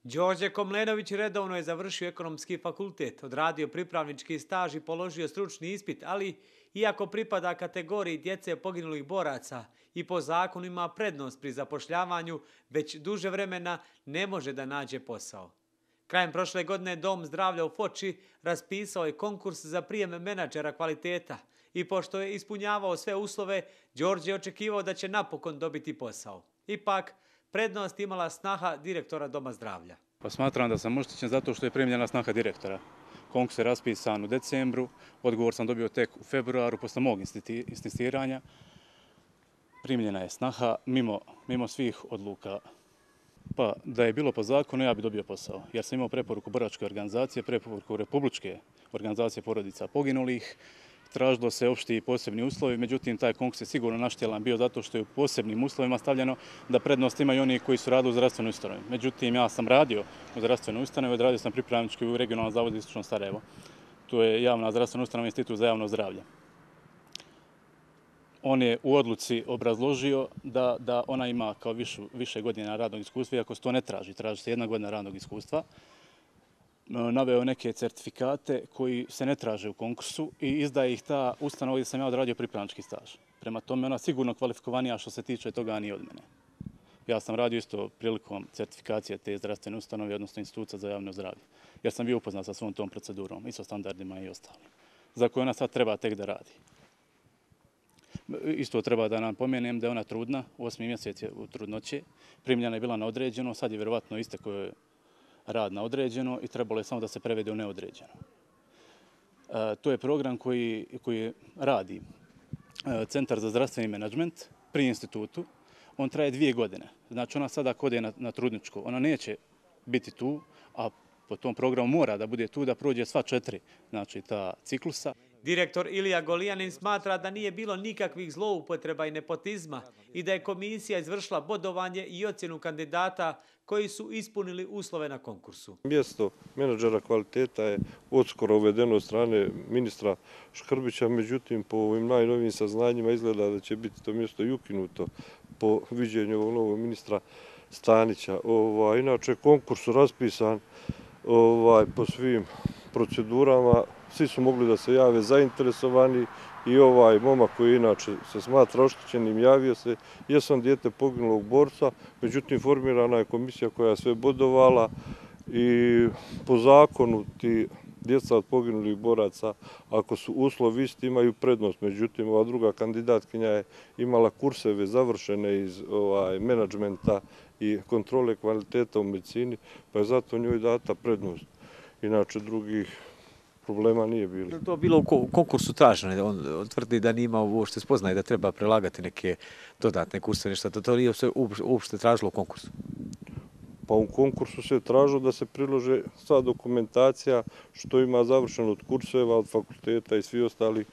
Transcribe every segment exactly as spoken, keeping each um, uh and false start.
Đorđe Komlenović redovno je završio ekonomski fakultet, odradio pripravnički staž i položio stručni ispit, ali iako pripada kategoriji djece poginulih boraca i po zakonu ima prednost pri zapošljavanju, već duže vremena ne može da nađe posao. Krajem prošle godine Dom zdravlja u Foči raspisao je konkurs za prijem menadžera kvaliteta i pošto je ispunjavao sve uslove, Đorđe je očekivao da će napokon dobiti posao. Ipak, prednost imala snaha direktora Doma zdravlja. Pa smatram da sam oštećen zato što je primljena snaha direktora. Konkurs je raspisan u decembru, odgovor sam dobio tek u februaru posle mog insistiranja. Primljena je snaha mimo, mimo svih odluka. Pa da je bilo po zakonu, ja bi dobio posao, jer sam imao preporuku boračke organizacije, preporuku Republičke organizacije porodica poginulih. Tražilo se opšti i posebni uslovi, međutim taj konkurs je sigurno naštjelan bio zato što je u posebnim uslovima stavljeno da prednost imaju oni koji su radili u zdravstvenoj ustanovi. Međutim, ja sam radio u zdravstvenoj ustanovi, odradio sam pripravnički u regionalnom zavodu Istočno Sarajevo. To je javna zdravstvena ustanova, Institut za javno zdravlje. On je u odluci obrazložio da, da ona ima kao višu, više godina radnog iskustva, iako se to ne traži, traži se jedna godina radnog iskustva. Naveo neke certifikate koji se ne traže u konkursu i izdaje ih ta ustanova gdje sam ja odradio pripravnički staž. Prema tome ona sigurno kvalifikovanija što se tiče toga ni od mene. Ja sam radio isto prilikom certifikacije te zdravstvene ustanove, odnosno Instituta za javno zdravlje, jer sam bio upoznat sa svom tom procedurom, isto standardima i ostalim, za koje ona sad treba tek da radi. Isto treba da nam pomenem da je ona trudna, osmi mjesec je u trudnoće, primljena je bila na određeno, sad je vjerovatno istekao rad na određeno i trebalo je samo da se prevede u neodređeno. E, to je program koji, koji radi e, Centar za zdravstveni menadžment pri institutu. On traje dvije godine. Znači ona sada kod je na, na trudničko, ona neće biti tu, a po tom programu mora da bude tu da prođe sva četiri, znači ta ciklusa. Direktor Ilija Golijanin smatra da nije bilo nikakvih zloupotreba i nepotizma i da je komisija izvršila bodovanje i ocjenu kandidata koji su ispunili uslove na konkursu. Mjesto menadžera kvaliteta je odskoro uvedeno od strane ministra Škrbića, međutim po ovim najnovijim saznanjima izgleda da će biti to mjesto i ukinuto po viđenju ovog novog ministra Stanića. Ovaj, inače, konkurs raspisan ovaj, po svim procedurama, svi su mogli da se jave zainteresovani i ovaj momak koji inače se smatra oštećenim javio se, jesam dijete poginulog borca, međutim formirana je komisija koja je sve bodovala i po zakonu ti djeca od poginulih boraca, ako su uslovi isti, imaju prednost. Međutim, ova druga kandidatkinja je imala kurseve završene iz ovaj, menadžmenta i kontrole kvaliteta u medicini, pa je zato njoj data prednost. Inače, drugih problema nije bilo. Je li to bilo u konkursu traženo? On tvrdi da nije imao uopšte spoznaje da treba prelagati neke dodatne kurseve, nešto. To nije uopšte tražilo u konkursu? Pa u konkursu se tražilo da se prilože sva dokumentacija što ima završeno od kurseva, od fakulteta i svi ostali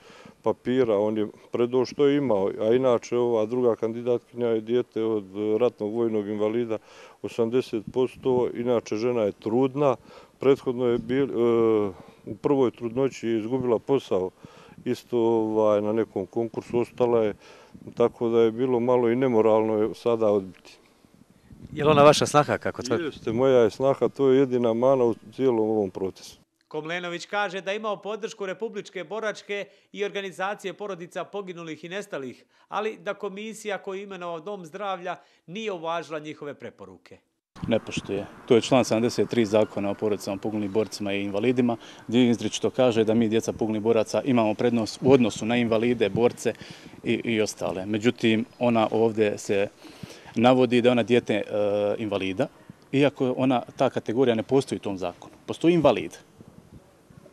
papira. On je predao što je imao, a inače ova druga kandidatkinja je dijete od ratnog vojnog invalida osamdeset posto, inače žena je trudna. Prethodno je bil, e, u prvoj trudnoći je izgubila posao isto ovaj, na nekom konkursu, ostala je, tako da je bilo malo i nemoralno sada odbiti. Je li ona vaša snaha, kako tvrdi? Jeste, moja je snaha, to je jedina mana u cijelom ovom procesu. Komlenović kaže da je imao podršku Republičke boračke i organizacije porodica poginulih i nestalih, ali da komisija koju je imenovao Dom zdravlja nije uvažila njihove preporuke. Ne poštuje. To je član sedamdeset tri zakona o porodicama poginulih borcima i invalidima, gdje izričito kaže da mi djeca poginulih boraca imamo prednost u odnosu na invalide, borce i, i ostale. Međutim, ona ovdje se navodi da je ona dijete e, invalida, iako ona, ta kategorija ne postoji u tom zakonu. Postoji invalid,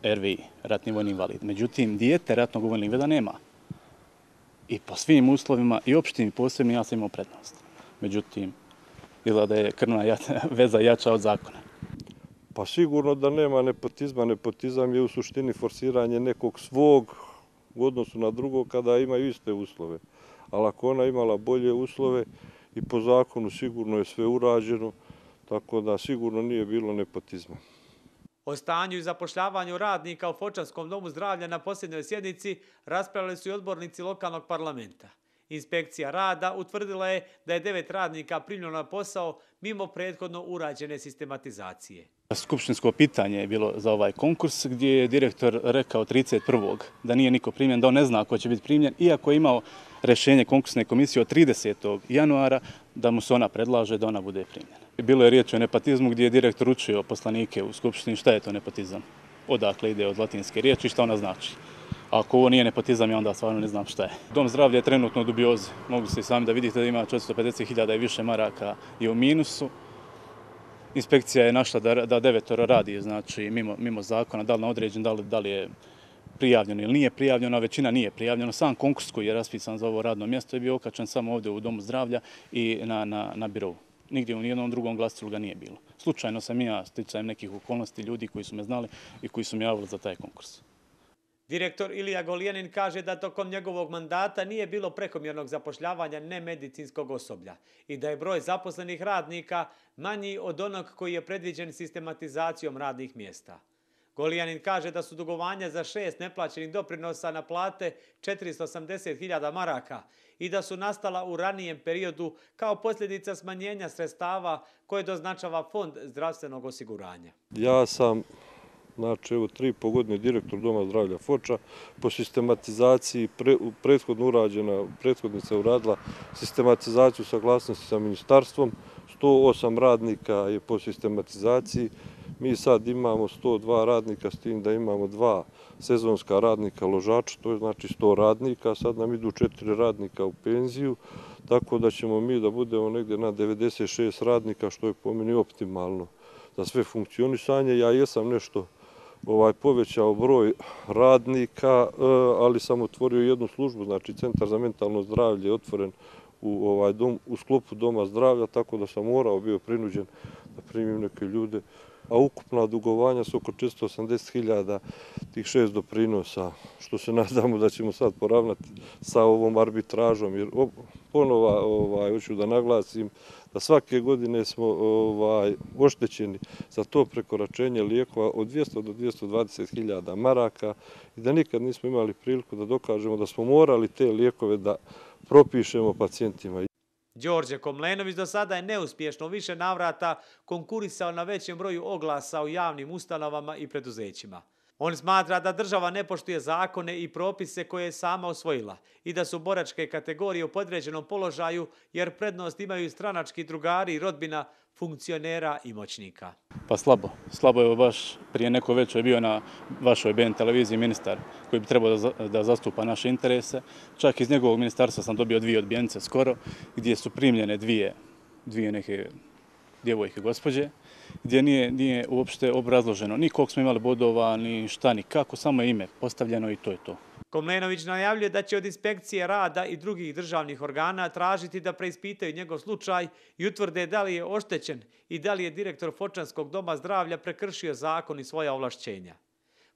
R V I, ratni vojni invalid. Međutim, dijete ratnog vojnog invalida nema. I po svim uslovima, i opštim i posebnim, ja sam imao prednost. Međutim, izgleda da je krvna veza jača od zakona. Pa sigurno da nema nepotizma. Nepotizam je u suštini forsiranje nekog svog u odnosu na drugog kada imaju iste uslove. Ali ako ona imala bolje uslove i po zakonu sigurno je sve urađeno, tako da sigurno nije bilo nepotizma. O stanju i zapošljavanju radnika u Fočanskom domu zdravlja na posljednjoj sjednici raspravljali su i odbornici lokalnog parlamenta. Inspekcija rada utvrdila je da je devet radnika primljeno na posao mimo prethodno urađene sistematizacije. Skupštinsko pitanje je bilo za ovaj konkurs gdje je direktor rekao trideset prvog da nije niko primljen, da on ne zna ko će biti primljen, iako je imao rješenje konkursne komisije od tridesetog januara da mu se ona predlaže da ona bude primljena. Bilo je riječ o nepotizmu gdje je direktor učio poslanike u Skupštini šta je to nepotizam, odakle ide od latinske riječi i šta ona znači. Ako ovo nije nepotizam, ja onda stvarno ne znam šta je. Dom zdravlja je trenutno u dubiozi. Mogli ste i sami da vidite da ima četiristo pedeset hiljada i više maraka i u minusu. Inspekcija je našla da, da devetoro radi, znači mimo, mimo zakona, da li na određen, da li, da li je prijavljeno ili nije prijavljeno, a većina nije prijavljeno. Sam konkurs koji je raspisan za ovo radno mjesto je bio okačen samo ovdje u Domu zdravlja i na, na, na birovu. Nigdje u nijednom drugom glasilu ga nije bilo. Slučajno sam ja, sticajem nekih okolnosti, ljudi koji su me znali i koji su me javili za taj konkurs. Direktor Ilija Golijanin kaže da tokom njegovog mandata nije bilo prekomjernog zapošljavanja nemedicinskog osoblja i da je broj zaposlenih radnika manji od onog koji je predviđen sistematizacijom radnih mjesta. Golijanin kaže da su dugovanja za šest neplaćenih doprinosa na plate četiristo osamdeset hiljada maraka i da su nastala u ranijem periodu kao posljedica smanjenja sredstava koje doznačava Fond zdravstvenog osiguranja. Ja sam Znači, evo, tri i po godine direktor Doma zdravlja Foča. Po sistematizaciji pre, prethodno urađena, prethodnica uradila sistematizaciju saglasnosti sa ministarstvom. sto osam radnika je po sistematizaciji. Mi sad imamo sto dva radnika s tim da imamo dva sezonska radnika ložača, to je znači sto radnika. Sad nam idu četiri radnika u penziju, tako da ćemo mi da budemo negdje na devedeset šest radnika, što je po meni optimalno za sve funkcionisanje. Ja jesam nešto ovaj, povećao broj radnika, ali sam otvorio jednu službu, znači Centar za mentalno zdravlje je otvoren u, ovaj, dom, u sklopu Doma zdravlja, tako da sam morao bio prinuđen da primim neke ljude. A ukupna dugovanja su oko četiristo osamdeset hiljada tih šest doprinosa, što se nadamo da ćemo sad poravnati sa ovom arbitražom. Jer ponova, ovaj, hoću da naglasim, da svake godine smo ovaj, oštećeni za to prekoračenje lijekova od dvjesto do dvjesto dvadeset hiljada maraka i da nikad nismo imali priliku da dokažemo da smo morali te lijekove da propišemo pacijentima. Đorđe Komlenović do sada je neuspješno u više navrata konkurisao na većem broju oglasa u javnim ustanovama i preduzećima. On smatra da država ne poštuje zakone i propise koje je sama osvojila i da su boračke kategorije u podređenom položaju jer prednost imaju stranački drugari i rodbina funkcionera i moćnika. Pa slabo. Slabo je baš prije neko veče bio na vašoj B N televiziji ministar koji bi trebao da, da zastupa naše interese. Čak iz njegovog ministarstva sam dobio dvije odbijenice skoro gdje su primljene dvije, dvije neke djevojke gospođe, gdje nije, nije uopšte obrazloženo ni koliko smo imali bodova, ni šta, ni kako, samo je ime postavljeno i to je to. Komlenović najavljuje da će od inspekcije rada i drugih državnih organa tražiti da preispitaju njegov slučaj i utvrde da li je oštećen i da li je direktor Fočanskog doma zdravlja prekršio zakon i svoja ovlašćenja.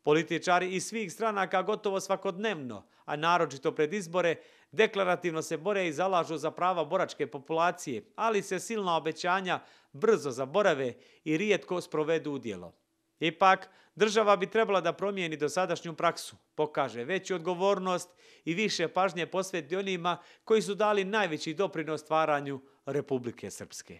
Političari iz svih stranaka gotovo svakodnevno, a naročito pred izbore, deklarativno se bore i zalažu za prava boračke populacije, ali se silna obećanja brzo zaborave i rijetko sprovedu u djelo. Ipak, država bi trebala da promijeni dosadašnju praksu, pokaže veću odgovornost i više pažnje posveti onima koji su dali najveći doprinos stvaranju Republike Srpske.